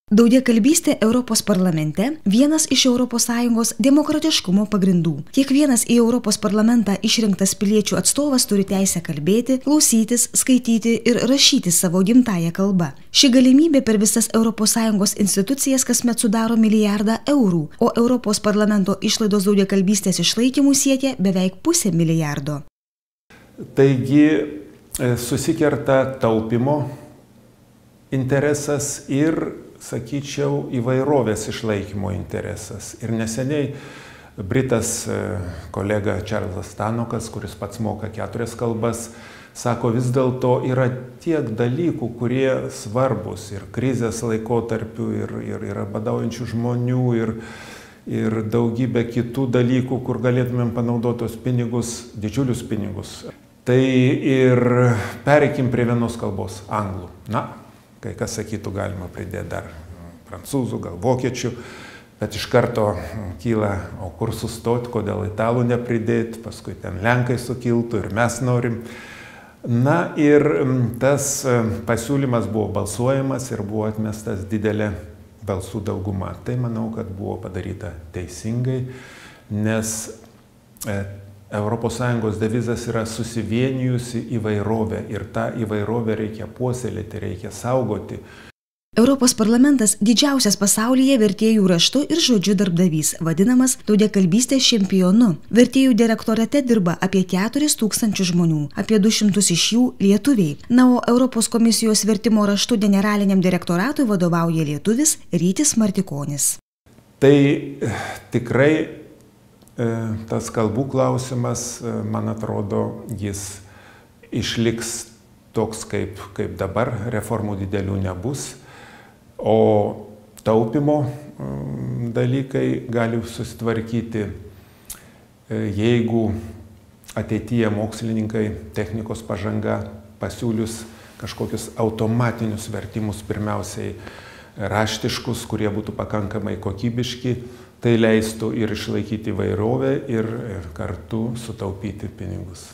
Daugiakalbystė Europos parlamente – vienas iš ES demokratiškumo pagrindų. Kiekvienas į Europos parlamentą išrinktas piliečių atstovas turi teisę kalbėti, klausytis, skaityti ir rašyti savo gimtąją kalbą. Ši galimybė per visas ES institucijas kasmet sudaro milijardą eurų, o Europos parlamento išlaidos daugiakalbystės išlaikymų siekia beveik pusę milijardo. Taigi susikerta taupimo interesas ir, sakyčiau, įvairovės išlaikymo interesas. Ir neseniai britas kolega Čarlzas Stanokas, kuris pats moka 4 kalbas, sako, vis dėlto yra tiek dalykų, kurie svarbus ir krizės laikotarpiu, ir badaujančių žmonių, ir daugybė kitų dalykų, kur galėtumėm panaudoti tos pinigus, didžiulius pinigus. Tai ir pereikim prie vienos kalbos, anglų. Na, kai kas sakytų, galima pridėti dar prancūzų, gal vokiečių, bet iš karto kyla, o kur sustoti, kodėl italų nepridėti, paskui ten lenkai sukiltų ir mes norim. Na ir tas pasiūlymas buvo balsuojamas ir buvo atmestas didelė balsų dauguma. Tai manau, kad buvo padaryta teisingai, nes ES devizas yra susivienijusi įvairovė ir tą įvairovę reikia puoselėti, reikia saugoti. Europos parlamentas didžiausias pasaulyje vertėjų raštu ir žodžiu darbdavys, vadinamas daugiakalbystės čempionu. Vertėjų direktorate dirba apie 4000 žmonių, apie 200 iš jų lietuviai. Na, o Europos komisijos vertimo raštu generaliniam direktoratui vadovauja lietuvis Rytis Martikonis. Tai tikrai tas kalbų klausimas, man atrodo, jis išliks toks, kaip dabar, reformų didelių nebus, o taupimo dalykai gali susitvarkyti, jeigu ateityje mokslininkai, technikos pažanga pasiūlius kažkokius automatinius vertimus, pirmiausiai raštiškus, kurie būtų pakankamai kokybiški. Tai leistų ir išlaikyti įvairovę ir kartu sutaupyti pinigus.